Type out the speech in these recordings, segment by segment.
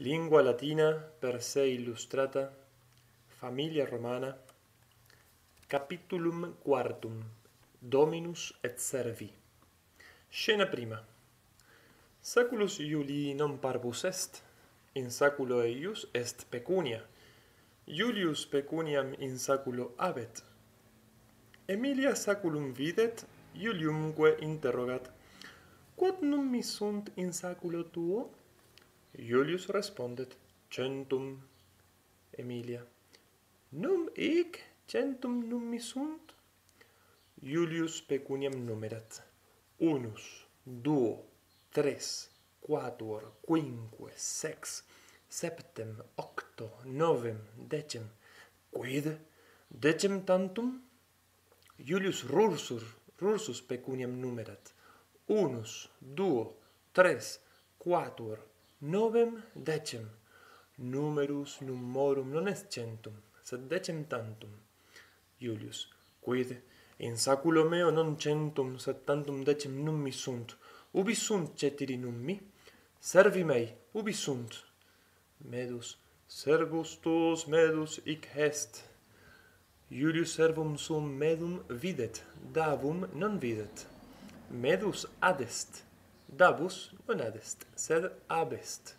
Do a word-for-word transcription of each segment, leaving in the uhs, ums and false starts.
Lingua latina per se illustrata, familia romana, capitulum quartum, Dominus et servi. Scena prima. Saculus Iulii non parvus est, in saculo eius est pecunia. Iulius pecuniam in saculo habet. Aemilia saculum videt, Iuliumque interrogat: "Quod nummi sunt in saculo tuo?" Iulius respondet: "Centum." Aemilia: "Num hic centum nummi sunt?" Iulius pecuniam numerat: "Unus, duo, tres, quatuor, quinque, sex, septem, octo, novem, decem." "Quid? Decem tantum?" Iulius rursus, rursus pecuniam numerat: "Unus, duo, tres, quatuor, novem, decem. Numerus numorum non est centum, sed decem tantum." Iulius: "Quid? In saculo meo non centum, sed tantum decem nummi sunt. Ubi sunt ceteri nummi? Servi mei, ubi sunt?" Medus: "Servus tuus medus hic est." Iulius servum suum medum videt, Davum non videt. Medus ad est, Davus non ad est, sed ab est.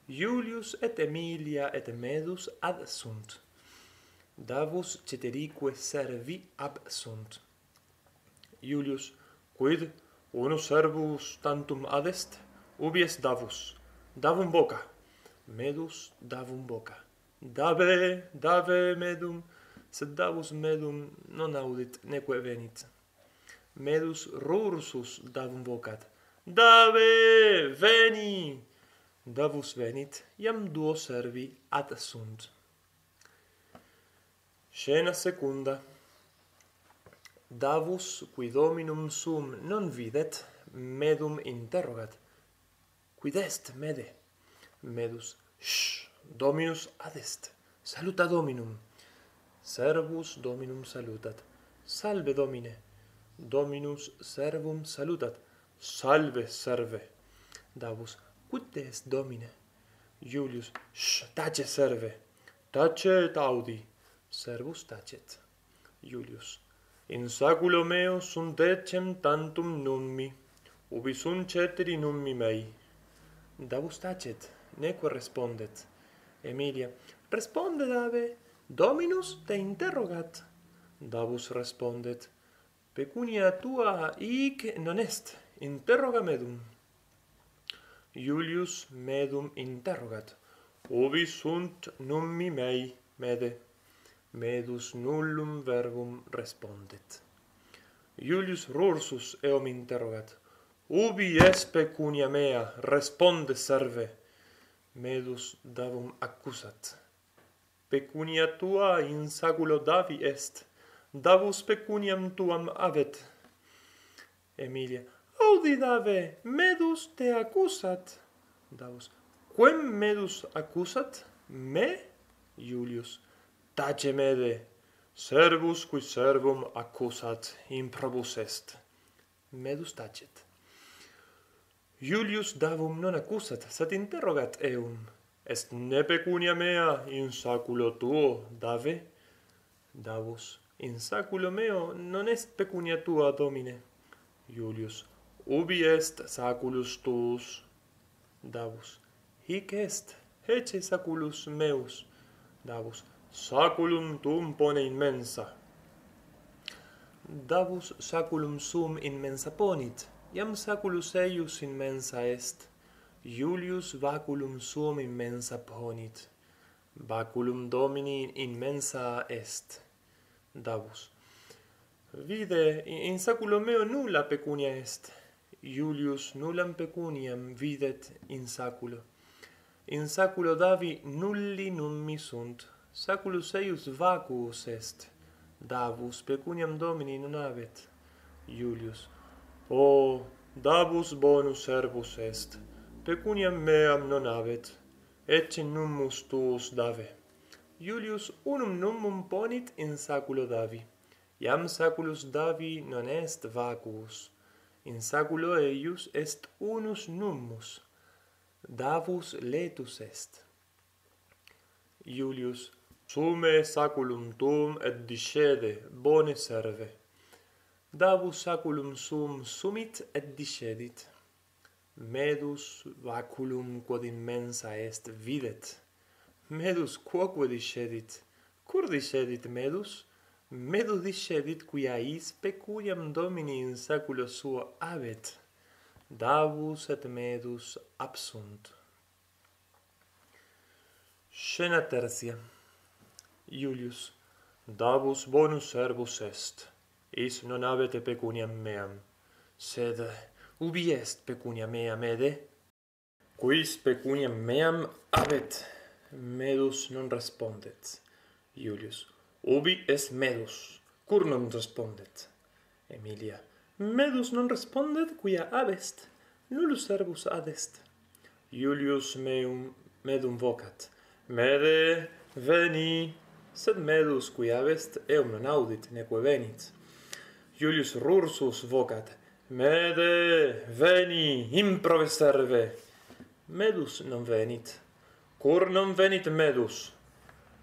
Iulius et Aemilia et Medus ad sunt. Davus ceterique servi ab sunt. Iulius: "Quid? Unus servus tantum ad est? Ubi est Davus? Davum voca." Medus: "Davum voca." "Dave, dave medum." Sed Davus medum non audit, neque venit. Medus rursus Davum vocat: "Dave, veni!" Davus venit, iam duo servi ad sunt. Scena secunda. Davus, qui Dominum suum non videt, Medum interrogat: "Quid est, Mede?" Medus: "Sh, Dominus ad est. Saluta Dominum." Servus Dominum salutat: "Salve, Domine." Dominus servum salutat: "Salve, serve." Davus: "Quid est, Domine?" Iulius: "Sh, tace, serve. Tace et audi." Servus tacet. Iulius: "In saculo meo sunt decem tantum nummi. Ubi sunt ceteri nummi mei?" Davus tacet, neque respondet. Aemilia: "Responde, Dave, Dominus te interrogat." Davus respondet: "Pecunia tua hic non est, interroga Medum." Iulius Medum interrogat: "Ubi sunt nummi mei, Mede?" Medus nullum verbum respondet. Iulius rursus eum interrogat: "Ubi est pecunia mea? Responde, serve." Medus Davum accusat: "Pecunia tua in saculo Davi est. Davus pecuniam tuam habet." Aemilia: "Audi, Dave, Medus te accusat." Davus: "Quem Medus accusat? Me?" Iulius: "Tace, Mede. Servus qui servum accusat, improbus est." Medus tacet. Iulius Davum non accusat, sed interrogat eum: "Est ne pecunia mea in saculo tuo, Dave?" Davus: "In saculo meo non est pecunia tua, Domine." Iulius: "Ubi est saculus tuus?" Davus: "Hic est, hece saculus meus." Davus: "Saculum tuum pone in mensa." Davus saculum suum in mensa ponit, iam saculus eius in mensa est. Iulius vaculum suum in mensa ponit. Vaculum Domini in mensa est. Davus: "Vide, in, in saculo meo nulla pecunia est." Iulius nullam pecuniam videt in saculo. In saculo Davi nulli nummi sunt. Saculus eius vacuus est. Davus pecuniam Domini non habet. Iulius: "O, Davus bonus servus est. Pecuniam meam non habet. Ecce nummus tuus, Dave." Iulius unum nummum ponit in saculo Davi. Iam saculus Davi non est vacuus. In saculo eius est unus nummus. Davus laetus est. Iulius: Sume saculum tuum et discede, bone serve. Davus saculum suum sumit et discedit. Medus vaculum quod in mensa est videt. Medus quoque discedit. Cur discedit medus? Medus discedit quia his pecuniam domini in saculo suo habet. Davus et medus absunt. Scena tertia. Iulius: Davus bonus servus est. His non habet pecuniam meam. Sed ubi est pecunia mea, Mede? Quis pecuniam meam habet? Medus non respondet. Iulius: Ubi est medus? Cur non respondet? Emilia: Medus non respondet quia habest. Nullus servus adest. Iulius meum, medum vocat: Mede, veni! Sed medus, qui habest, eum non audit, neque venit. Iulius rursus vocat: Mede, veni, improve serve! Medus non venit. Cur non venit medus?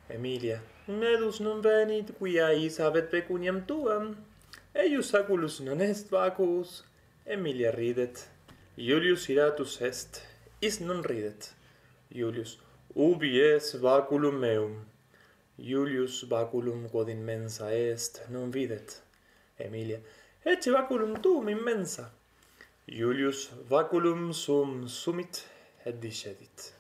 Emilia: Medus non venit quia his habet pecuniam tuam. Eius saculus non est vacuus. Emilia ridet. Iulius iratus est. His non ridet. Iulius: Ubi est vaculum meum? Iulius vaculum quod in mensa est non videt. Emilia: Ecce vaculum tuum in mensa. Iulius vaculum suum sumit et discedit.